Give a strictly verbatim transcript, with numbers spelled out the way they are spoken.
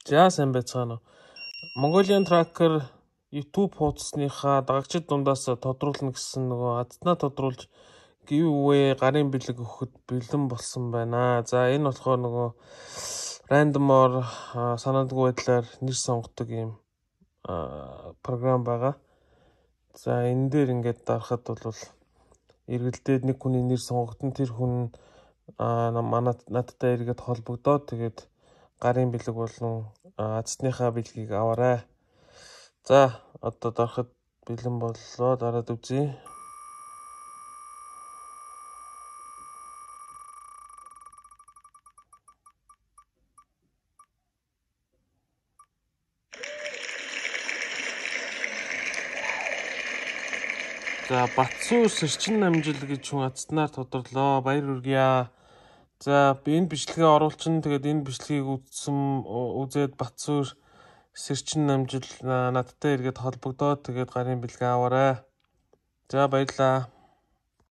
За сайн байцгаана уу. Mongolian Tracker YouTube хуудасныхаа дагагчид дундаас тодруулна гэсэн нөгөө адтнаа тодруулж giveaway гарын бэлэг өгөхөд бэлэн болсон байна. За энэ болохоор нөгөө randomor санаандгүй байдлаар нэр сонгодог юм програм байгаа. За энэ дээр ингээд дарахад бол эргэлдээд нэг хүний нэр сонгогдсон, тэр хүн манай надтай эргээд холбогдоод тэгээд гарын бэлэг болон азтныхаа бэлгийг аваарай. За одоо дарахад бэлэн боллоо, дараад үзье. За Батсуур сэрчин намжил гэж хүн азтнаар тодорлоо. Баяр хүргье. За би энэ бичлэгээ оруулчин, тэгээд энэ бичлэгийг үзсэн үзээд Батсуур сэрчин намжил надтай эргээд холбогдоод тэгээд гарын бэлгээ аваарай. За баярлаа.